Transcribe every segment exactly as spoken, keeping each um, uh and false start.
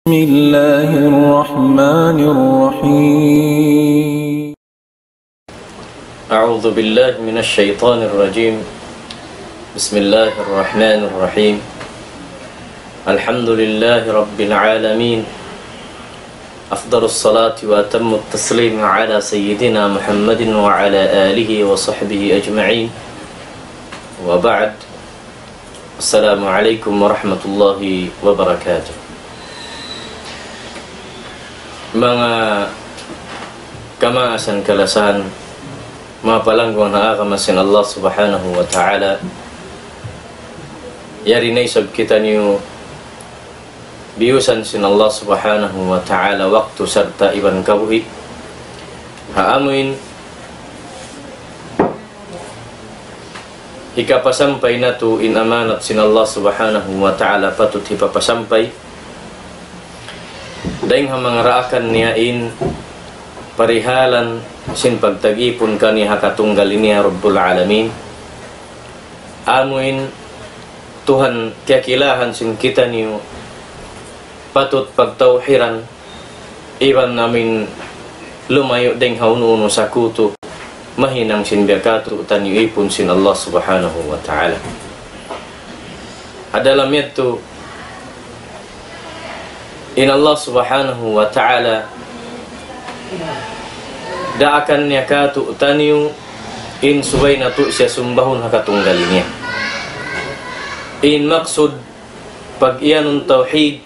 بسم الله الرحمن الرحيم. أعوذ بالله من الشيطان الرجيم. بسم الله الرحمن الرحيم. الحمد لله رب العالمين. أفضل الصلاة وأتم التسليم على سيدنا محمد وعلى آله وصحبه أجمعين. وبعد. Assalamu alaykum warahmatullahi wabarakatuh. Manga kamaasan kalasahan, manga palangguan ha agama sin Allah Subhanahu wa Ta'ala, yari na isab kitaniyu biyusan sin Allah Subhanahu wa Ta'ala waktu sarta' iban kabuhi'. Ha amuin hikapasampay natu' in amanat sin Allah Subhanahu wa Ta'ala patut hipapasampay. Dayng ha manga daakan niya in parihalan sin pagtag-ipun kaniya ha katunggal niya Rabbul Alamin. Amuin Tuhan kiyakilahan sin kitaniyu patut pagtawhiran, iban amuin lumayu' dayng ha unu-unu sakutu, mahinang sin biya' katu'niyu ipun sin Allah Subhanahu wa Ta'ala. Ha dalam yadtu, in Allah Subhanahu wa Ta'ala, daakan niya katu'niyu in subay natu' siya sumbahun ha katunggal niya. In maksud pag-iyanun tawhid,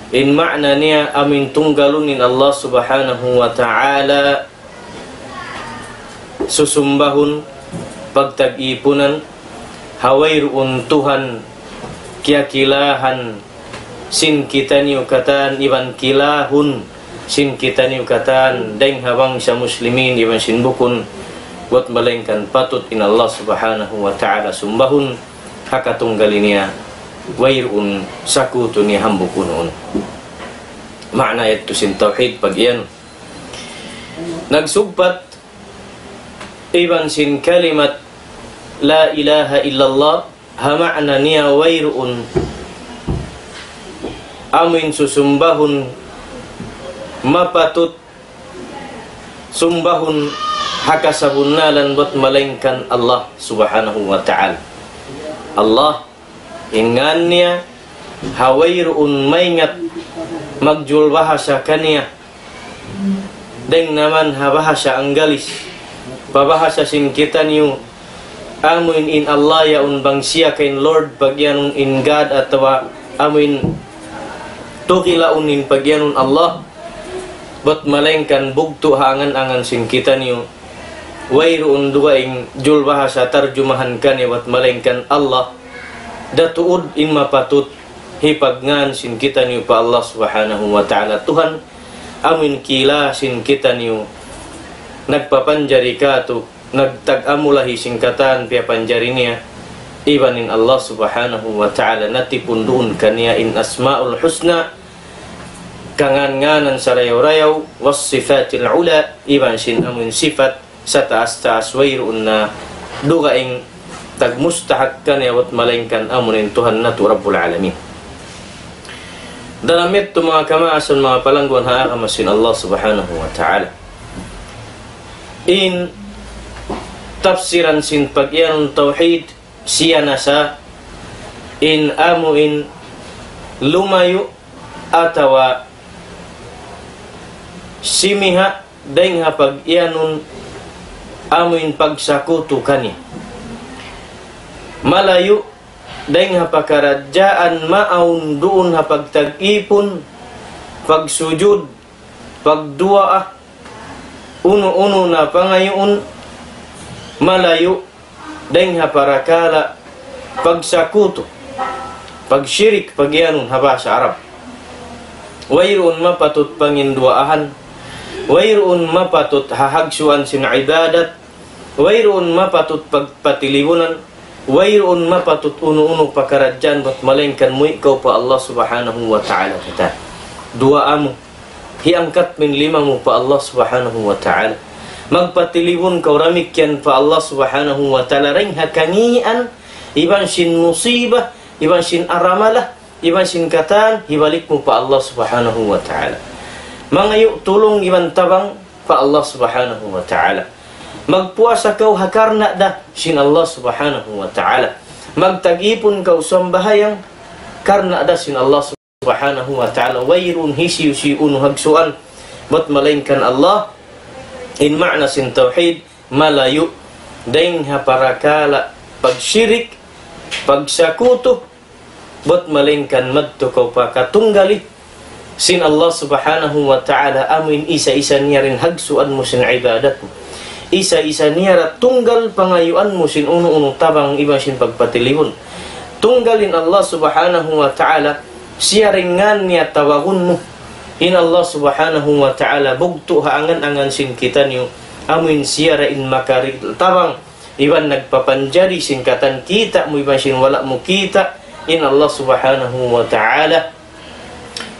in ma'na niya amuin tunggalun in Allah Subhanahu wa Ta'ala susumbahun, pagtag-ipunan, ha wayruun Tuhan kiyakilahan sin kitaniyu katan iban kilahun sin kitaniyu katan dayng ha bangsa Muslimin iban sin bukun, bat malaingkan patut in Allah Subhanahu wa Ta'ala sumbahun ha katunggal niya, wayruun sakutu niya hambuuk unu-unu. Ma'na yadtu sin tawhid pag-iyan. Nagsugpat iban sin kalimat la ilaha illallah, ha ma'na niya wayruun amuin susumbahun mapatut sumbahun ha kasabunnalan bat malaingkan Allah Subhanahu wa Ta'ala. Allah, in ngan niya, ha wayruun maingat magjul bahasa kaniya. Dayng naman ha bahasa Anggalis, pa bahasa sin kitaniyu, amuin in Allah yaun bang siya kain Lord, pag-iyanun in God, atawa amuin tukilaun in pag-iyanun Allah, bat malaingkan bugtu' ha angan-angan sin kitaniyu. Wayruun dugaing jul bahasa tarjumahan kaniya bat malaingkan Allah. Da tuud in mapatut hipagngan sin kitaniyu pa Allah Subhanahu wa Ta'ala Tuhan, amuin kila sin kitaniyu, nagpapanjari katu', nagtag-amulahi sin katan piyapanjari niya, iban in Allah Subhanahu wa Ta'ala natipun duun kaniya in Asma'ul Husna, kangan-nganan sarayaw-rayaw, was sifatil ula, iban sin amuin sifat sataas-taas, wayruun na dugaing tagmustahak kaniya bat malaingkan amuin Tuhan natu' Rabbul Alamin. Dalam yadtu manga kamaasan, manga palangguan ha agama sin Allah Subhanahu wa Ta'ala, in tafsiran sin pag-iyanun tawhid, siya na sa in amuin lumayu' atawa simiha' dayng ha pag-iyanun amuin pagsakutu kaniya. Malayu' dayng ha pakaradjaan maawn duun ha pagtag-ipun, pagsujud, pagduwaa, unu-unu na pangayuun, malayu' dayng ha parakala' pagsakutu, pagshirik, pag-iyanun ha bahasa Arab. Wayruun mapatut panginduwaahan, wayruun mapatut hahagsuan sin ibadat, wayruun mapatut pagpatilibunan, wayruun mapatut unu-unu pakaradjaan bat malaingkan muwi' kaw pa Allah Subhanahu wa Ta'ala katan. Duwaa mu, hiangkat mu in lima mu pa Allah Subhanahu wa Ta'ala. Magpatilibun kaw damikkiyan pa Allah Subhanahu wa Ta'ala dayng ha kangīan, iban sin musiba, iban sin aramala, iban sin katan, hibalik mu pa Allah Subhanahu wa Ta'ala. Mangayu' tulung iban tabang pa Allah Subhanahu wa Ta'ala. Magpuasa kaw ha karna' da sin Allah Subhanahu wa Ta'ala. Magtag-ipun kaw sambahayang karna' da sin Allah Subhanahu wa Ta'ala. Wayruun hisiyu-siyu unu hagsuan, bat malaingkan Allah. In ma'na sin tawhid, malayu' dayn ha parakala' pagshirik, pagsakutu, bat malaingkan madtu kaw pa katunggali sin Allah Subhanahu wa Ta'ala, amuin isa-isa niya ra in hagsuan mu sin ibadat mu. Isa-isa niya ra tunggal pangayuan mu sin unu-unu tabang iban sin pagpatilibun. Tunggal in Allah Subhanahu wa Ta'ala, siya ra in ngan niya tawagun mu. In Allah Subhanahu wa Ta'ala bugtu' ha angan-angan sin kitaniyu, amuin siya ra in makari tabang iban nagpapanjari sin katan kita' mu iban sin wala' mu kita', in Allah Subhanahu wa Ta'ala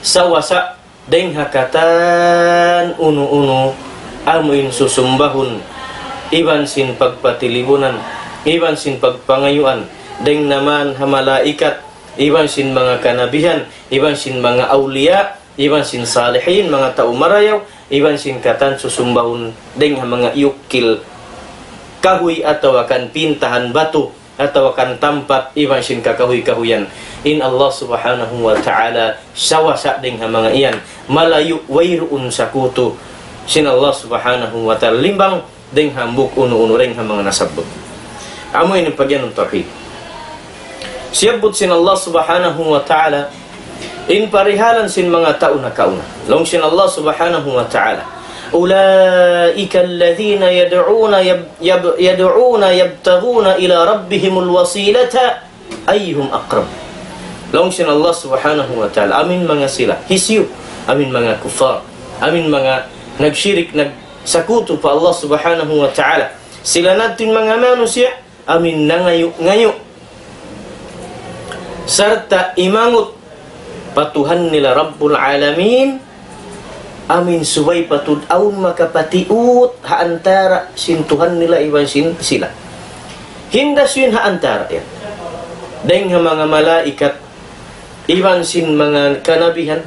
sawasa dayn ha katan unu-unu amuin susumbahun, iban sin pagpatilibunan, iban sin pagpangayuan, dayn naman ha malaikat, iban sin manga kanabihan, iban sin manga awliya, iban sin salihin, manga tau marayaw, iban sin katan susumbahun dayn ha manga iyukil kahuy atawa kan pintahan batu, atawa kan tampat, iban sin kakahuy-kahuyan. In Allah Subhanahu wa Ta'ala sawasa dayn ha manga iyan. Malayu' wayruun sakutu sin Allah Subhanahu wa Ta'ala. Limbang dayn hambuuk unu-unu dayn ha manga nasabbut. Amu ini in pagiyanun tawhid. Siyabbut sin Allah Subhanahu wa Ta'ala in parihalan sin manga tau nakauna. Laung sin Allah Subhanahu wa Ta'ala, أولئك الذين يدعون يب-، يب-، يدعون يبتغون إلى ربهم الوسيلة أيهم أقرب. Laung sin Allah Subhanahu wa Ta'ala, amuin manga sila, hisiyu, amuin manga kuffar, amuin manga nagshirik, nagsakutu pa Allah Subhanahu wa Ta'ala. Sila na in manga manusiya', amuin nangayu'-ngayu' sarta' imangut pa Tuhan nila Rabbul Alamin, amuin subay patud awn makapatiut ha antara' sin Tuhan nila iban sin sila. Hinda sin ha antara' yan. Dayn ha manga malaikat, iban sin manga kanabihan,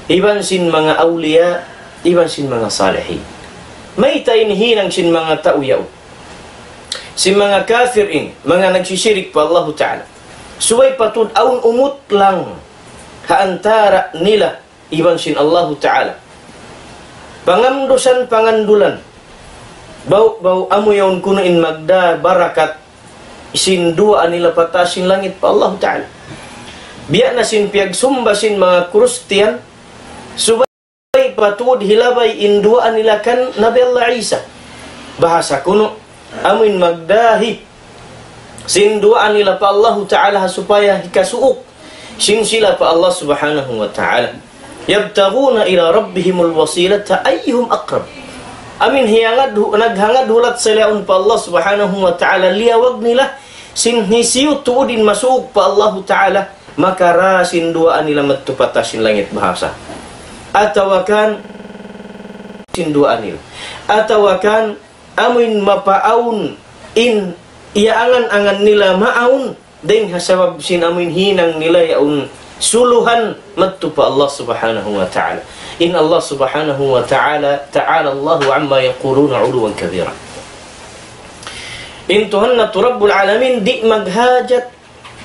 iban sin manga awliya, iban sin manga salihin. Mayta' in hinang sin manga tau yaun, sin manga kafir ini, manga nagsishirik pa Allahu Ta'ala. Subay patud awn umutlang ha antara' nila iban sin Allahu Ta'ala. Pangandusan, pangandulan. Bau, bau amu yaun kunu' in magdā barakat sin duwaa nila pa taas sin langit pa Allahu Ta'ala. Biya' na sin piyagsumba sin manga Kristiyan, subay patud hilabay in duwaa nila kan Nabi Allah Isa. Bahasa kunu', amuin magdā hi sin duwaa nila pa Allahu Ta'ala ha supaya hikasuuk sin sila pa Allah Subhanahu wa Ta'ala. يبتغون إلى ربهم الوسيلة أيهم أقرب. Amuin hiyangad hu-, naghangad hulat sila yaun pa Allah Subhanahu wa Ta'ala, liyawag nila sin hisiyu tuud in masuuk pa Allahu Ta'ala, makarā sin duwaa nila madtu pa taas sin langit bahasa. Atawa kan sin duwaa nila. Atawa kan amuin mapaawn in iyaangan-angan nila maawn, dayn ha sabab sin amuin hinang nila yaun suluhan madtu pa Allah Subhanahu wa Ta'ala. In Allah Subhanahu wa Ta'ala, تعالى الله عما يقولون علوا كبيرا. In Tuhan natu' Rabbul Alamin di' maghajat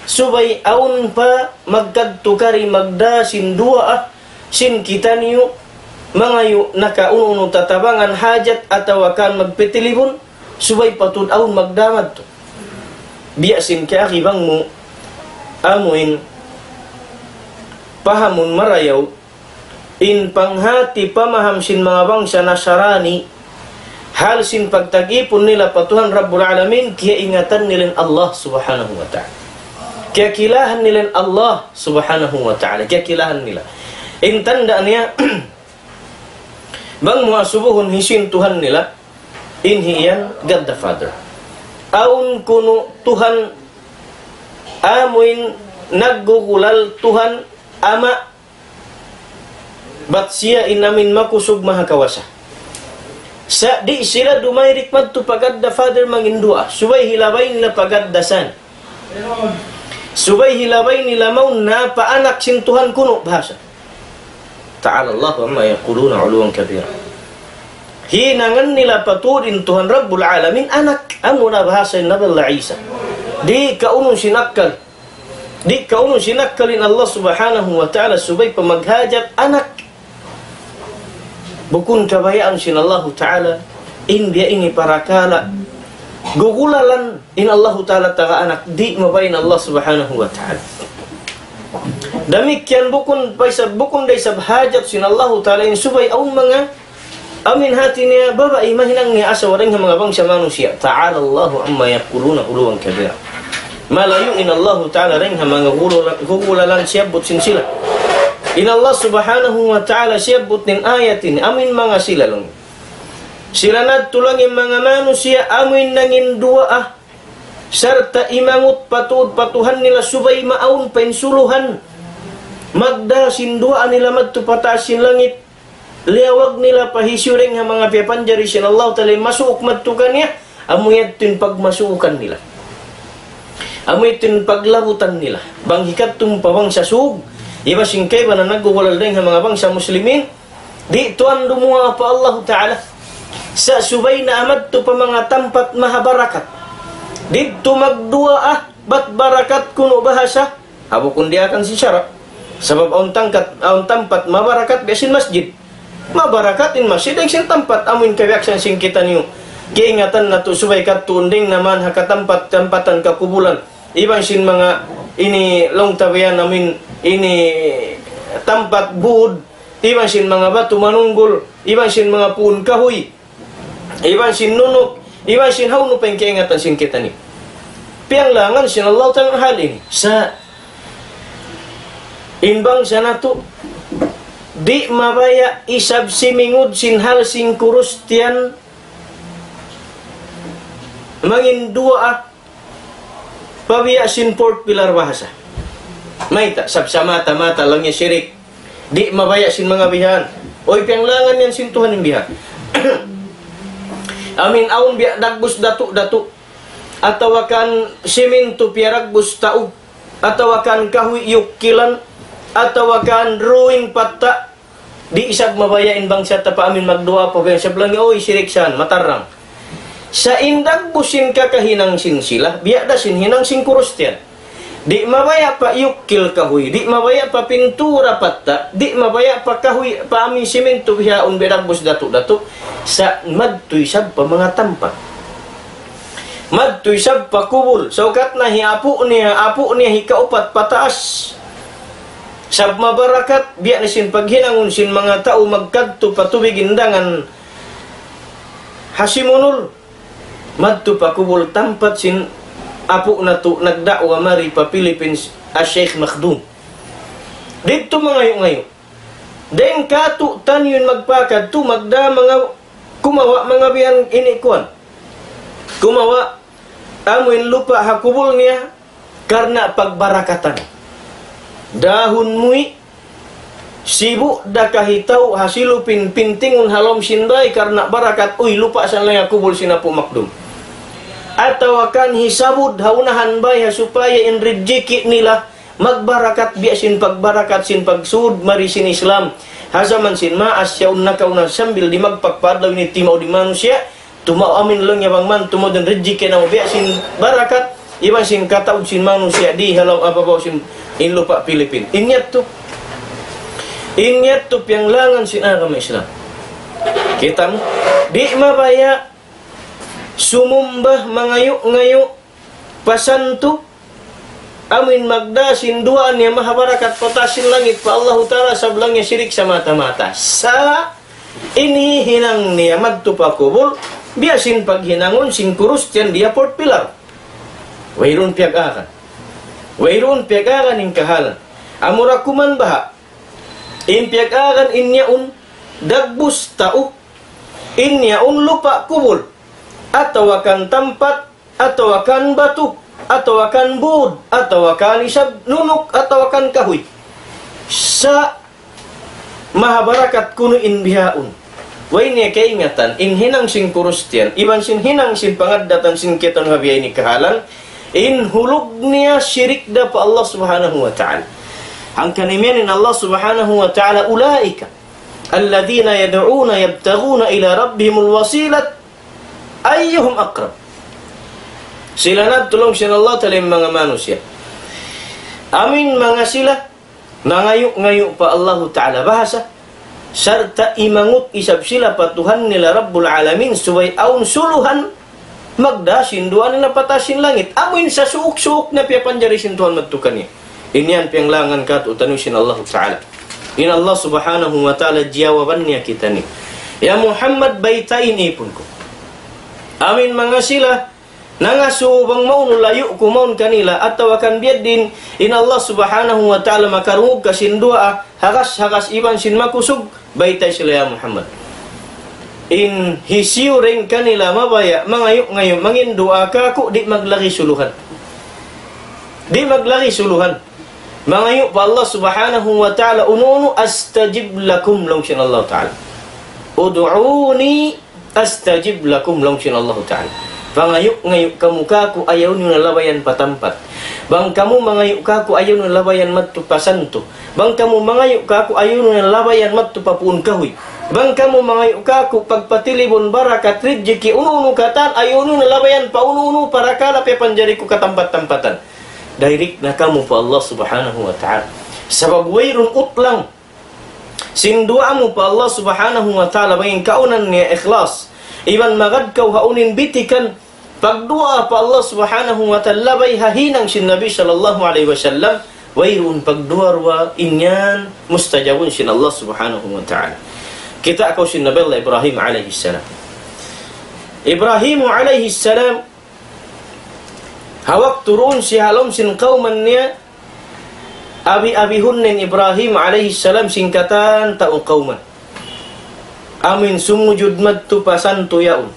subay awn pa magkadtu kari magdā sin duwaa sin kitaniyu, mangayu' nakaunu-unu tatabangan hajat atawa kan magpitilibun, subay patud awn magdā madtu. Biya' sin kaagi bang mu amuin pahamun marayaw, in panghati pamaham sin manga bangsa Nasarani, hal sin pagtag-ipun nila pa Tuhan Rabbul Alamin, kiyaingatan nila in Allah Subhanahu wa Ta'ala. Kiyakilahan nila in Allah Subhanahu wa Ta'ala. Kiyakilahan nila. In tanda' niya, bang mu asubuhun hisiyu in Tuhan nila, in hi iyan God the Father. Awn kunu' Tuhan amuin naggugulal, Tuhan Ama', bat siya in amuin makusug mahakawasa. Sa' di' sila dumayrik madtu pa God the Father manginduwaa. Subay hilabay nila pa God the Son. Subay hilabay nila mawn na pa anak sin Tuhan kunu' bahasa. تعالى الله عما يقولون علوا كبيرا. Hinangan nila pa tuud in Tuhan Rabbul Alamin anak, amuna bahasa in Nabi Allah Isa. Di' kaunun sin akkal. Di' kaunun sin akkal in Allah Subhanahu wa Ta'ala subay pa maghajat anak. Bukun kabayaan sin Allahu Ta'ala, in biya' ini parakala'. Gugulalan in Allahu Ta'ala taga anak, di' mabaya' in Allah Subhanahu wa Ta'ala. Damikkiyan bukun, paisa, bukun da isab hajat sin Allahu Ta'ala in subay awn manga amin hati niya babai mahinang niya asawa dayn ha manga bangsa manusiya'. تعالى الله عما يقولون علوا كبيرا. Malayu' in Allahu Ta'ala dayn ha manga gugula-, gugulalan siyabbut sin sila. In Allah Subhanahu wa Ta'ala siyabbut in ayat ini, amin manga sila laung. Sila na tuud laung in manga manusiya', amin nangin duwaa, sarta' imangut pa tuud pa Tuhan nila subay maawn pa in suluhan. Magdā sin duwaa nila madtu pa taas sin langit. Liyawag nila pa hisiyu dayn ha manga piyapanjari sin Allah Ta'ala masuuk madtu kaniya, amu yadtu in pagmasuukan nila. Amu yadtu in paglabutan nila. Bang hikadtu pa bangsa Sug, iban sin kaibanan naggugulal dayn ha manga bangsa Muslimin, di' tuud dumuwaa pa Allah Ta'ala. Sa' subay na madtu pa manga tampat mahabarakat. Didtu magduwaa, bat barakat kunu' bahasa, ha bukun diyaak sin sara'. Sabab awn tangkat, awn tampat mabarakat biya' sin masjid. Mabarakat in masjid, dayn sin tampat amuin kabiyaksahan sin kitaniyu. Kiyaingatan natu' subay kadtuun dayn naman ha katampat-tampatan kakubulan. Iban sin manga ini laung ta biya' amuin ini tampat bud, iban sin manga batu manunggul, iban sin manga puun kahuy. Iban sin nunuk, iban sin hawnu pa in kaingatan sin kitaniyu. Piyanglangan sin Allah Ta'ala hal ini. Sa' in bangsa natu', di' mabaya' isab simingud sin hal sin Kristiyan mangin duwaa pa biya' sin fourth pillar bahasa. Mayta', sabab sa mata-mata laung niya sirik. Di' mabaya' sin manga bihan. Uy, piyanglangan yan sin Tuhan in bihan. Amuin awn biya' dagbus datu'-datu'. Atawa kan simintu piyaragbus taug. Atawa kan kahuy iyukkilan. Atawa kan drawing patta'. Di' isab mabaya' in bangsa ta pa amuin magduwaa pa biya' sabab laung niya, uy, sirik san, matarrang. Sa' in dagbus sin kakahinang sin sila, biya' da sin hinang sin Kristiyan. Di' mabaya' pa iyukkil kahuy, di' mabaya' pa pintura patta', di' mabaya' pa kahuy, pa amuin simintu bihaun biya' dagbus datu'-datu'. Sa' madtu isab pa manga tampat. Madtu isab pa kubul. Sa' ukat na hi apu' niya, apu' niya hikaupat pataas. Sabab mabarakat, biya' na sin paghinangun sin manga tau magkadtu pa tubig indangan ha Simunul. Madtu pa kubul tampat sin apu' natu' nagda'wa mari pa Philippines, ha Sheikh Makhdum. Didtu mangayu'-ngayu'. Dayn kātu'niyu in magpakadtu, magdā manga, kumawa' manga bihan ini kuwan. Kumawa' amuin lupa' ha kubul niya, karna' pagbarakatan. Dahun muwi', sibu' da kahitau ha silupin pintingun ha lawm sin bāy karna' barakat, uy, lupa' san laung ha kubul sin Apu' Makdum. Atawa kan hisabud ha unahan bāy ha supaya in rijiki' nila magbarakat biya' sin pagbarakat sin pagsūd mari sin Islam. Ha jaman sin maas yaun nakauna sambil di' magpakpa adlaw ini timaud in manusiya', tumaud amin laung niya bang man, tumaud in rijiki' namu' biya' sin barakat, iban sin kataud sin manusiya' di ha lawm ababaw sin in lupa' Pilipin. In yadtu. In yadtu piyanglangan sin agama Islam. Kita' mu, di' mabaya' sumumba mangayu'-ngayu' pa santu, amuin magdā sin duwaa niya mahabarakat pa taas sin langit pa Allahu Ta'ala, sabab laung niya sirik samata-mata. Sa' in hinang niya madtu pa kubul, biya' sin paghinangun sin Kristiyan di ha fourth pillar. Wayruun piyag-agan. Wayruun piyag-agan in kahalan. Amura kuman baha'. In piyag-agan in yaun dagbus tau, in yaun lupa' kubul, atawa kan tampat, atawa kan batu, atawa kan būd, atawa kan isab nunuk, atawa kan kahuy. Sa' mahabarakat kunu' in bihaun. Way niya kaingatan, in hinang sin Kristiyan, iban sin hinang sin pangaddatan sin kitaniyu ha biya' ini kahalan, In hulug niya shirik da pa Allah Subhanahu wa Ta'ala. Hangkan imiyan in Allah Subhanahu wa Ta'ala, أولئك الذين يدعون يبتغون إلى ربهم الوسيلة أيهم أقرب. Sila na tuud laung sin Allah Ta'ala in manga manusiya'. Amuin manga sila nangayu'-ngayu' pa Allahu Ta'ala bahasa, sarta' imangut isab sila pa Tuhan nila Rabbul Alamin, subay awn suluhan magdā sin duwaa nila pa taas sin langit. Amuin sasuuk-suuk na piyapanjari sin Tuhan madtu kaniya. Ini yan piyanglangan kātu'niyu sin Allahu Ta'ala. In Allah Subhanahu wa Ta'ala jiyawaban niya kitaniyu. Ya Muhammad, baytai in ipun ku. Amuin manga sila nangasubu bang maunu layu' ku mawn kanila, atawa kan biya' diin, in Allah Subhanahu wa Ta'ala makarungug ka sin duwaa, hagas-hagas iban sin makusug, baytai sila ya Muhammad. In hisiyu dayn kanila mabaya', mangayu'-ngayu', mangin duwaa kāku', di' maglagi suluhan. Di' maglagi suluhan. Mangayu' pa Allah Subhanahu wa Ta'ala, unu-unu, أستجب لكم, laung sin Allah Ta'ala. ادعوني أستجب لكم, laung sin Allahu Ta'ala. Pangayu'-ngayu' kamu kāku', ayaw niyu na labayan pa tampat. Bang kamu mangayu' kāku', ayaw niyu na labayan madtu pa santu. Bang kamu mangayu' kāku', ayaw niyu na labayan madtu pa puun kahuy. Bang kamu mangayu' kāku', pagpatilibun barakat, rijiki', unu-unu katan, ayaw niyu na labayan pa unu-unu parakala' piyapanjari ku katampat-tampatan. Direct na kamu pa Allah Subhanahu wa Ta'ala. Sabab wayruun utlang sin duwaa mu pa Allah Subhanahu wa Ta'ala, bang in kaunan niya ikhlas. Iban magad kaw ha unu in bitikan pagduwaa pa Allah Subhanahu wa Ta'ala, labay ha hinang sin Nabi sallallahu alayhi wasallam, wayruun pagduwaa-ruwaa, in yan mustajabun sin Allah Subhanahu wa Ta'ala. Kitaa kaw sin Nabi Allah Ibrahim alayhi salam. Ibrahim alayhi salam, ha waktu duun siya ha lawm sin kawman niya, abi-abihun in Ibrahim alayhi salam sin katan tau kawman. Amuin sumujud madtu pa santu yaun.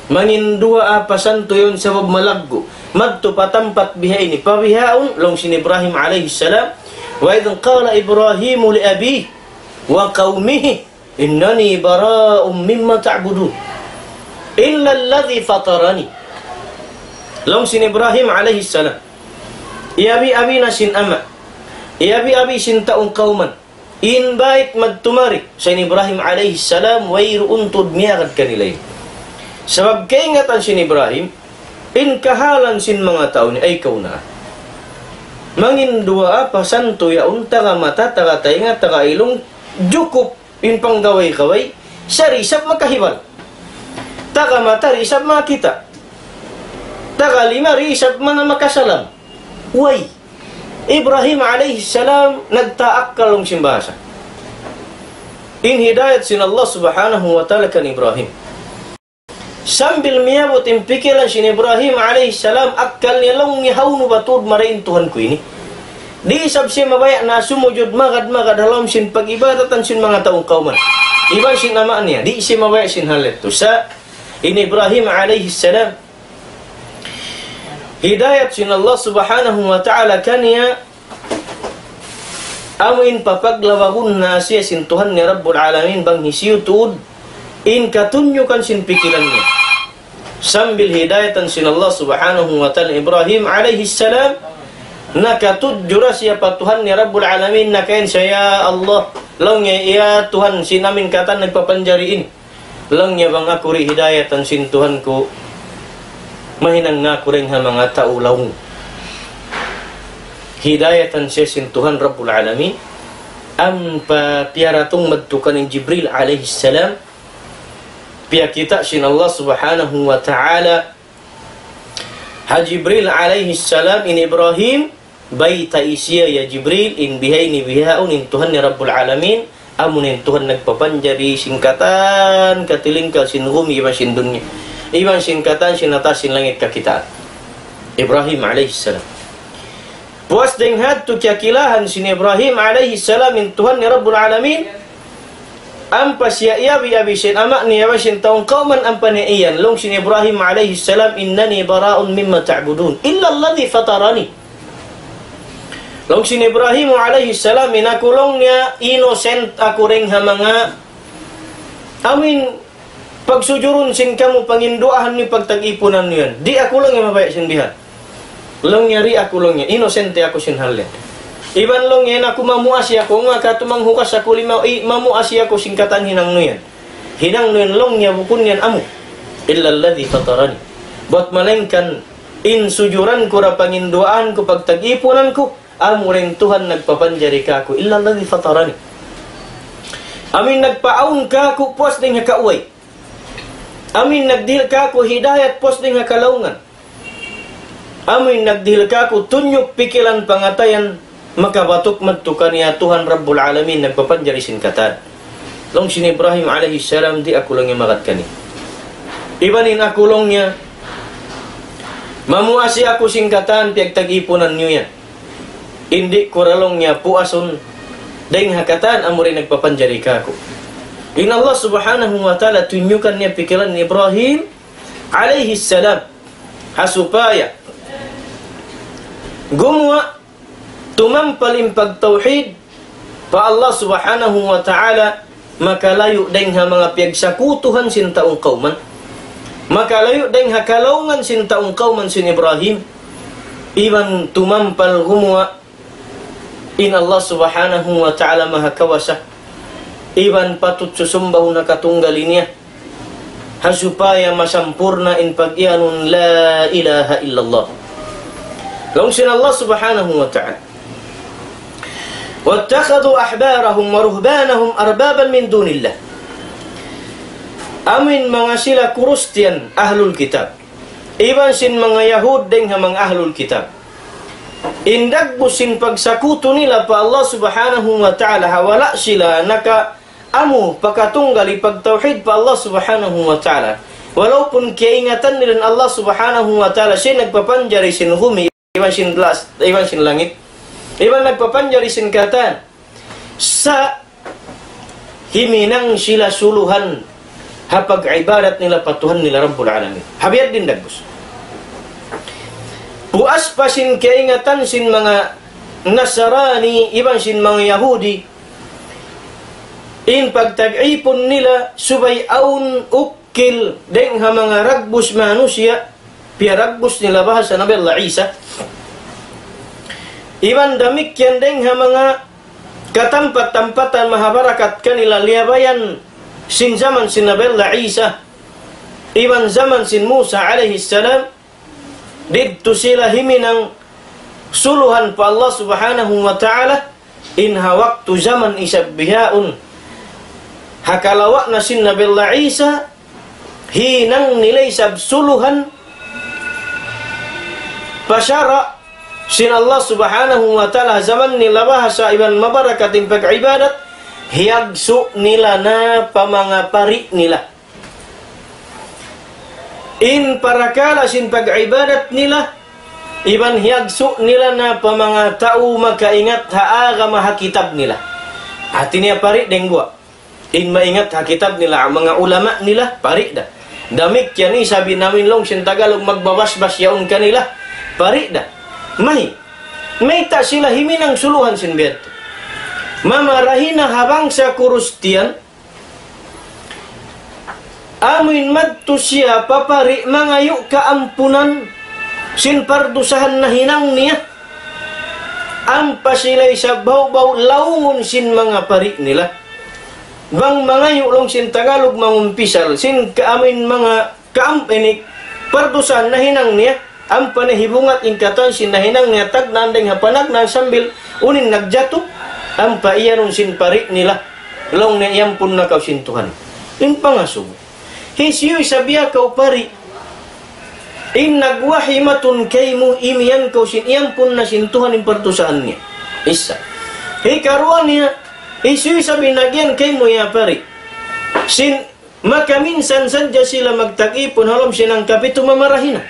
Mangin duwaa pa santu yaun sabab malaggu'. Madtu pa tampat bihaini, pa bihaun, laung sin Ibrahim alayhi salam, وإذ قال إبراهيم لأبيه وقومه إنني براء مما تعبدون إلا الذي فطرني. Laung sin Ibrahim alayhi salam, iyabi-abi na sin ama', iyabi-abi sin tau kawman, in bait madtu mari, sa' in Ibrahim alayhi salam, wayruun tuud miyagad kanila. Sabab kaingatan sin Ibrahim, in kahalan sin manga tau ini, ay kaw na. Mangin duwaa pa santu yaun, taga mata, taga taynga, taga ilung, jukup in panggaway-gaway, sa' di' isab makahibal. Taga mata di' isab makakita'. Taga lima di' isab manga makasalam. Way. Ibrahim alayhi salam nagtaakkal laung sin bahasa. In hidayat sin Allah Subhanahu wa Ta'ala kan Ibrahim. Sambil miyabut in pikilan sin Ibrahim alayhi salam, akkal niya laung niya, hawnu ba tuud marayaw in Tuhan ku ini? Di' isab siya mabaya' na sumujud magad-magad ha lawm sin pag-ibadatan sin manga tau kawman. Iban sin ama' niya, di' siya mabaya' sin hal yadtu. Sa' in Ibrahim alayhi salam, hidayat sin Allah Subhanahu wa Ta'ala kaniya, amu in papaglawagun na siya sin Tuhan niya Rabbul Alamin bang hisiyu tuud in katunyukan sin pikilan niya. Sambil hidayatan sin Allah Subhanahu wa Ta'ala Ibrahim alayhi salam, nakatudju da siya pa Tuhan niya Rabbul Alamin, nakain siya, "Ya Allah," laung niya, "ya Tuhan, sin amin katan nagpapanjari ini." Laung niya, "Bang aku di' hidayatan sin Tuhan ku, mahinang na aku dayn ha manga tau laung." Hidayatan siya sin Tuhan Rabbul Alamin. Ampa piyaratung madtu kaniya in Jibril alayhi salam. Piyakita' sin Allah Subhanahu wa Ta'ala ha Jibril alayhi salam in Ibrahim, baytai siya, "Ya Jibril, in bihaini bihaun in Tuhan niya Rabbul Alamin, amu in Tuhan nagpapanjari sin katan katilingkal sin gumi iban sin dunya, iban sin katan sin ha taas sin langit kakitaan." Ibrahim alayhi salam. Puas dayn ha yadtu kiyakilahan sin Ibrahim alayhi salam in Tuhan niya Rabbul Alamin, ampa siya iyabi-abi sin ama' niya iban sin tau kawman ampa niya iyan. Laung sin Ibrahim alayhi salam, "إنني براء مما تعبدون إلا الذي فطرني." Laung sin Ibrahim alayhi salam, "In aku," laung niya, "innocent aku dayn ha manga amuin pagsujurun sin kamu, panginduwaahan niyu, pagtag-ipunan niyu yan. Di' aku," laung niya, "mabaya' sin bihan." Laung niya, "Di' aku," laung niya, "inosente aku sin hal yan. Iban," laung niya, "in aku mamuasi aku, nga katu' manghugas aku lima, i, mamuasi aku sin katan hinang nu yan. Hinang nu yan," laung niya, "bukun yan amu. إلا الذي فطرني. Buat malaingkan in sujuran ku da panginduwaan ku pagtag-ipunan ku, amu da in Tuhan nagpapanjari kāku'. إلا الذي فطرني. Amu in nagpaawn kāku' puas dayn ha kauway. Amu in nagdihil kāku' hidayat puas dayn ha kalaungan. Amu in nagdihil kāku' tunjuk pikilan pangatayan, makabatuk madtu kaniya Tuhan Rabbul Alamin nagpapanjari sin katan." Laung sin Ibrahim alayhi salam, "Di' aku," laung niya, "magad kaniya. Iban in aku," laung niya, "mamuasi aku sin katan piyagtag-ipunan niyu yan. Di' ku da," laung niya, "puasun dayn ha katan amu da in nagpapanjari kāku'." In Allah Subhanahu wa Ta'ala tunjukan niya pikilan ni Ibrahim alayhi salam, ha supaya gumuwa', tumampal in pagtawhid pa Allah Subhanahu wa Ta'ala, makalayu' dayn ha manga piyagsakutuhan sin tau kawman, makalayu' dayn ha kalaungan sin tau kawman sin Ibrahim, iban tumampal gumuwa' in Allah Subhanahu wa Ta'ala maha kawasa, iban patut susumbahun ha katunggal niya, ha supaya masampurna' in pag-iyanun لا إله إلا الله. Laung sin Allah Subhanahu wa Ta'ala, واتخذوا أحبارهم ورهبانهم أربابا من دون الله. Amu in manga sila Kristiyan, ahlul kitab, iban sin manga Yahud dayn ha manga ahlul kitab, in dagbus sin pagsakutu nila pa Allah Subhanahu wa Ta'ala, ha wala' sila nakaamu pakatunggal hipagtawhid pa Allah Subhanahu wa Ta'ala. Walaupun kiyaingatan nila in Allah Subhanahu wa Ta'ala, siya in nagpapanjari sin gumi, iban sin las, iban sin langit, iban nagpapanjari sin katan, sa' himinang sila suluhan ha pag-ibadat nila pa Tuhan nila Rabbul Alamin. Ha biya' diin dagbus. Puas pa sin kaingatan sin manga Nasrani, iban sin manga Yahudi, in pagtag-ipun nila subay awn ukil dayn ha manga dagbus manusiya', piyaragbus nila bahasa Nabi Allah Isa. Iban damikkiyan dayn ha manga katampat-tampatan mahabarakat kanila liyabayan sin jaman sin Nabi Allah Isa, iban jaman sin Musa alayhi salam, didtu sila himinang suluhan pa Allah Subhanahu wa Ta'ala, in ha waktu jaman isab bihaun, ha kalawa' na sin Nabi Allah Isa, hinang nila isab suluhan pa sara' sin Allah Subhanahu wa Ta'ala, jaman nila bahasa iban mabarakat in pag-ibadat, hiyagsu' nila na pa manga pari' nila. In parakala' sin pag-ibadat nila, iban hiyagsu' nila na pa manga tau makaingat ha agama ha kitab nila. Hati niya pari' dayng guwa'. In maingat ha kitab nila, manga ulama nila, pari' da. Damikkiyan isab in amin laung sin Tagalog magbabasbas yaun kanila, pari' da. May, mayta' sila himinang suluhan sin biya' yadtu? Mamarahi na ha bangsa Kristiyan, amuin madtu siya pa pari' mangayu' kaampunan sin pardusahan nahinang niya. Ampa sila isab bawbaw laungun sin manga pari' nila. Bang mangayu' laung sin Tagalog mangumpisal, sin ka-, amuin manga kaam-, ini, pardusahan nahinang niya. Ampa na hibungat in katan sin nahinang niya tagnaan dayng ha panagnaan sambil unu in nagjatu. Ampa iyanun sin pari' nila, laung niya, "Iyampun na kaw sin Tuhan." In pangasubu. Hisiyu isab ya kaw pari' in nagwahi matun kaymu imiyan kaw sin iyampun na sin Tuhan in pardusahan niya? Isa. Hikaruwa niya, hisiyu isab in nagyan kaymu ya pari'? Sin makaminsan sadja sila magtag-ipun ha lawm sin hangkapitu mamarahi na.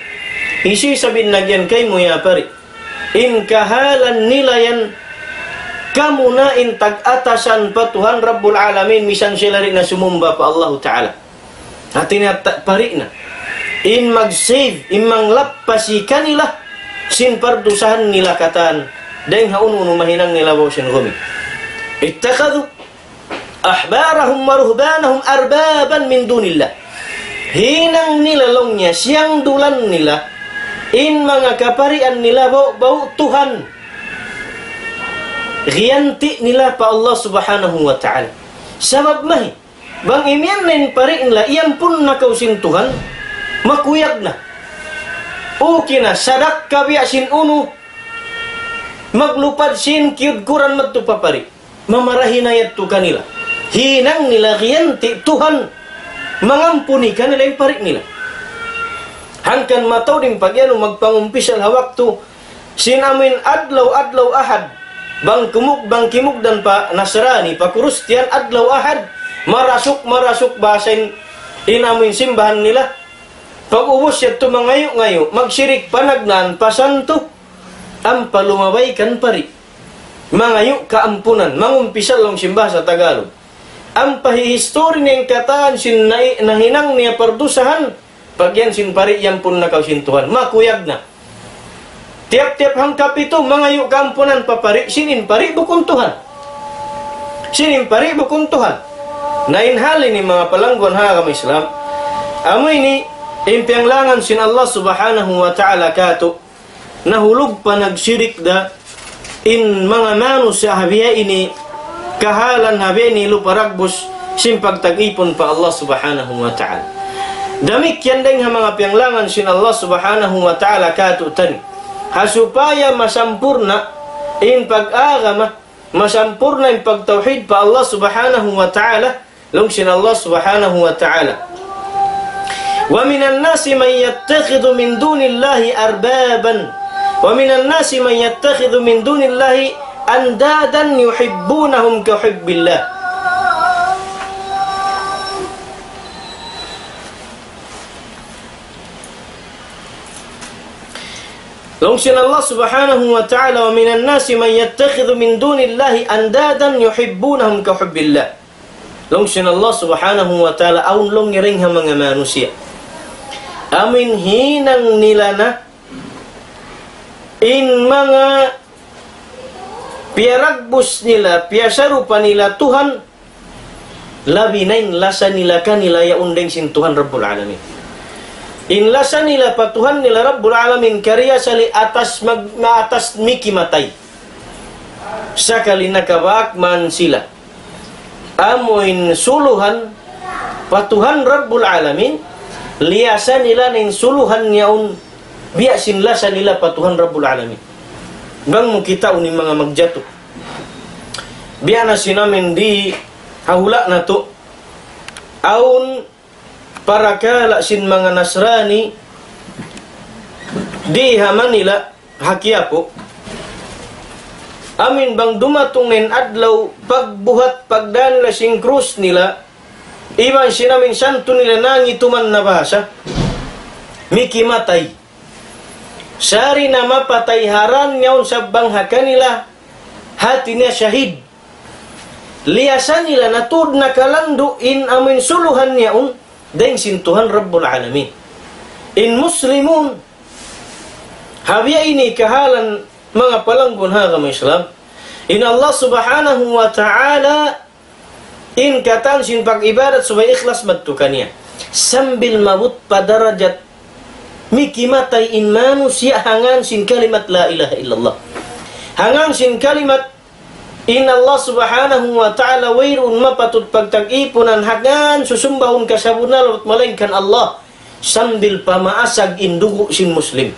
Hisiyu isab in nagyan kaymu ya pari'? In kahalan nila yan, kamu na in tag-atasan pa Tuhan Rabbul Alamin, misan sila di' na sumumba pa Allahu Ta'ala. Hati niya ta-, pari' na. In mag-save, in manglappasi kanila sin pardusahan nila katan, dayng ha unu-unu mahinang nila baw sin gumi. اتخذوا أحبارهم ورهبانهم أربابا من دون الله. Hinang nila laung niya, siyangdulan nila, In manga kaparian nila bau-bau Tuhan. Giyanti' nila pa Allah Subhanahu wa Ta'ala. Sabab mahi, bang imiyan na in pari' nila, iyampun na kaw sin Tuhan, makuyag na. Okay na, sadakka biya' sin unu, maglupad sin kiyudkuran madtu pa pari'. Mamarahi na yadtu kanila. Hinang nila giyanti' Tuhan mangampuni kanila in pari' nila. Hangkan mataud in pag-anu magpangumpisal ha waktu sin amuin adlaw-adlaw Ahad. Bang kumug-, bang kimugdan pa Nasrani, pa Kristiyan, adlaw Ahad, marasuk-marasuk bahasa in, in amuin simbahan nila. Pag-ubus yadtu mangayu'-ngayu', magsirik panagnaan, pasantu, ampa lumabay kan pari'. Mangayu' kaampunan, mangumpisal laung sin bahasa Tagalog. Ampa hihistori niya in katan sin nai-, nahinang niya pardusahan, pag yan sin pari' iyampun na kaw sin Tuhan. Makuyag na. Tiyap-tiyap hangkapitu, mangayu' kaampunan pa pari', sin in pari' bukun Tuhan. Sin in pari' bukun Tuhan. Na in hal ini manga palangguan ha agama Islam, amu ini in piyanglangan sin Allah Subhanahu wa Ta'ala katu', nahulug pa nagsirik da in manga manusiya' ha biya' ini kahalan ha biya' ini lupa ragbus sin pagtag-ipun pa Allah Subhanahu wa Ta'ala. Damikkiyan dayn ha manga piyanglangan sin Allah Subhanahu wa Ta'ala katu'tani. Ha supaya masampurna' in pag-agama, masampurna' in pagtawhid pa Allah Subhanahu wa Ta'ala, laung sin Allah Subhanahu wa Ta'ala. ومن الناس من يتخذ من دون الله أربابا ومن الناس من يتخذ من دون الله أندادا يحبونهم كحب الله. Laung sin Allah Subhanahu wa Ta'ala, ومن الناس من يتخذ من دون الله أندادا يحبونهم كحب الله. Laung sin Allah Subhanahu wa Ta'ala, awn laung niya dayn ha manga manusiya'. Amuin hinang nila na in manga piyaragbus nila, piyasarupa nila Tuhan, labi na in lasa nila kanila yaun dayn sin Tuhan Rabbul Alamin. In lasa nila pa Tuhan nila Rabbul Alamin, kariya sali atas mag-, maatas mikimatay. Sakali nakabak man sila. Amuin suluhan pa Tuhan Rabbul Alamin, liyasa nila na in suluhan yaun biya' sin lasa nila pa Tuhan Rabbul Alamin. Bang mu kitaun in manga magjatu. Biya' na sin amin di ha hula' natu'. Awn parakala' sin manga Nasrani di ha Manila, ha Quiapo. Amuin bang dumatung na in adlaw pagbuhat pagdaan nila sin krus nila, iban sin amuin santu nila nangituman na bahasa, mikimatay. Sari na mapatay ha dan yaun sabab bang ha kanila, hati niya shahid. Liyasa nila na tuud nakalandu' in amuin suluhan yaun dayn sin Tuhan Rabbul Alamin. In Muslimun, ha biya' ini kahalan manga palanggun ha agama Islam, in Allah Subhanahu wa Ta'ala in katan sin pag-ibadat subay ikhlas madtu kaniya. Sambil maabut pa darajat mikimatay in manusiya' ha ngan sin kalimat la ilaha illallah. Ha ngan sin kalimat in Allah Subhanahu wa Ta'ala wayruun mapatut pagtag-ipunan ha ngan susumbahun kasabunnal malaingkan Allah. Sambil pamaasag in dugu' sin Muslim.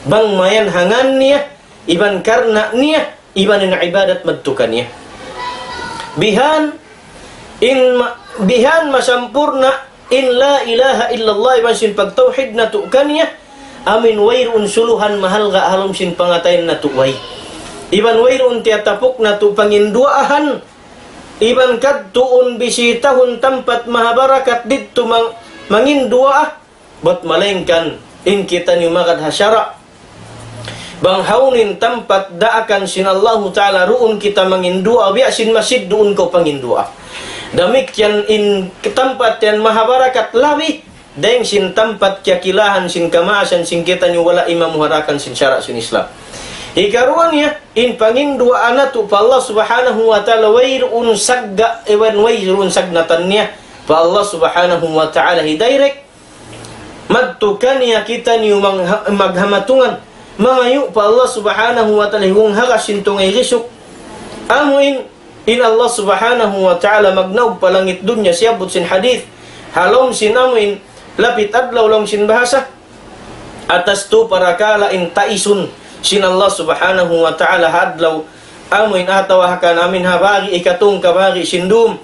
Bang mayan ha ngan niya, iban karna' niya, iban in ibadat madtu kaniya. Bihan, in ma-, bihan masampurna' in la ilaha illallah iban sin pagtawhid natu' kaniya, amuin wayruun suluhan mahalga' ha lawm sin pangatayan natu' way. Iban wayruun tiyatapuk natu' panginduwaahan, iban kadtuun bisitahun tampat mahabarakat didtu mang-, manginduwaa, bat malaingkan in kitaniyu magad ha sara'. Bang hawnu in tampat daakan sin Allahu Ta'ala, duun kita manginduwaa, biya' sin masjid duun kaw panginduwaa. Damikkiyan in tampat yan mahabarakat labi, dayn sin tampat kiyakilahan sin kamaasan sin kitaniyu wala' imamuharakan sin sara' sin Islam. Hikaruwa niya, in panginduwaa natu' pa Allah Subhanahu wa Ta'ala, wayruun sagga', iban wayruun sagnatan niya pa Allah Subhanahu wa Ta'ala hi direct, madtu kaniya kitaniyu mang-, maghamatungan, mangayu' pa Allah Subhanahu wa Ta'ala, hiwung hagas sin tungay risuk. Amu in, in Allah Subhanahu wa Ta'ala magnaug pa langit dunya, siyabbut sin hadith, ha lawm sin amu in lapit adlaw, laung sin bahasa, atas tu parakala' in taisun sin Allah Subhanahu wa Ta'ala ha adlaw, amu in atawa ha kanamin ha bari' ikatung kabari' sin dum,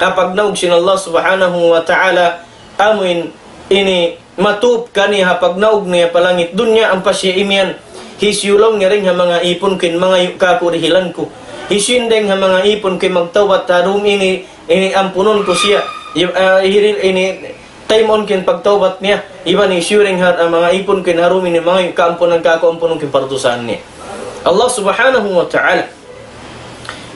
ha pagnaug sin Allah Subhanahu wa Ta'ala, amu in ini matup kaniya ha pagnaug niya pa langit dunya, ampa siya imiyan, hisiyu laung niya dayn ha manga īpun ku in mangayu' kāku' dihilan ku? Hisiyu in dayn ha manga īpun ku in magtawbat ha dum ini, ini ampunun ku siya? I-, ah, hiril ini, taymaun ku in pagtawbat niya. Iban hisiyu dayn ha, ah, manga īpun ku in ha dum ini mangayu' kaampunan kāku', ampunun ku in pardusahan niya. Allah Subhanahu wa Ta'ala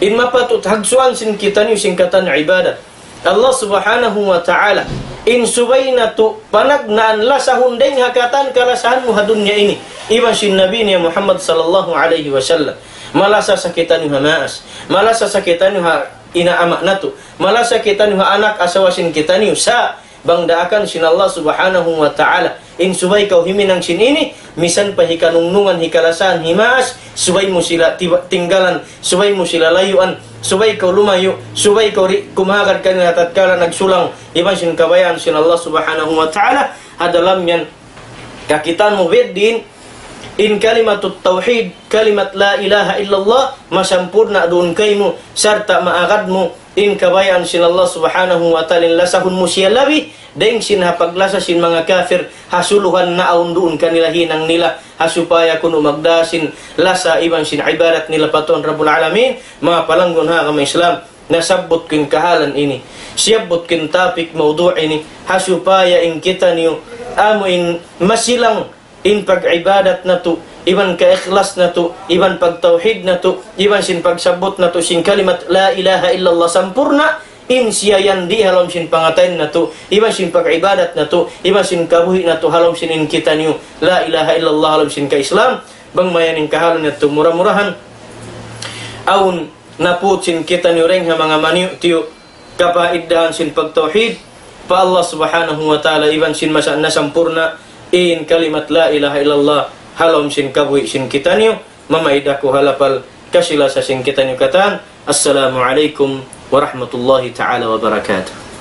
in mapatut hagsuan sin kitaniyu sin katan ibadat. Allah Subhanahu wa Ta'ala in subay natu' panagnaan lasahun dayn ha katan kalasahan mu ha dunya ini, iban sin Nabi niya Muhammad sallallahu alayhi wasallam. Malasa sa kitaniyu ha maas, malasa sa kitaniyu ha ina' ama' natu', malasa kitaniyu ha anak asawa sin kitaniyu, sa' bang daakan sin Allah Subhanahu wa Ta'ala in subay kaw himinang sin ini, misan pa hikanungnungan, hikalasahan, himaas, subay mu sila tiba-, tinggalan, subay mu sila layuan, subay kaw lumayu', subay kaw di' kumahagad kanila tatkala nagsulang iban sin kabayaan sin Allah Subhanahu wa Ta'ala ha dalam yan. Kakitaan mu biyadiin in kalimatut tawhid, kalimat la ilaha illallah, masampurna' duun kaymu, sarta' maagad mu in kabayaan sin Allah Subhanahu wa Ta'ala, in lasahun mu siya labi dayn sin ha paglasa sin manga kafir, ha suluhan naawn duun kanila hinang nila, ha supaya kunu' magdā sin lasa iban sin ibadat nila pa Tuhan Rabbul Alamin. Manga palanggun ha agama Islam, nasabbut ku in kahalan ini, siyabbut ku in topic mawdu' ini, ha supaya in kitaniyu amu in masilang in pag-ibadat natu', iban kaikhlas natu', iban pagtawhid natu', iban sin pagsabbut natu' sin kalimat la ilaha illallah sampurna', in siya yan di' ha lawm sin pangatayan natu', iban sin pag-ibadat natu', iban sin kabuhi' natu', ha lawm sin in kitaniyu la ilaha illallah, ha lawm sin ka-Islam. Bang mayan in kahalan natu', mura-murahan awn naput sin kitaniyu dayn ha manga maniyu'-tiyu' kapaiddahan sin pagtawhid pa Allah Subhanahu wa Ta'ala, iban sin masa nasampurna' in kalimat la ilaha illallah ha lawm sin kabuhi' sin kitaniyu. Mamaid aku ha lapal kasi-lasa sin kitaniyu katan. Assalamu alaykum warahmatullahi ta'ala wabarakatuh.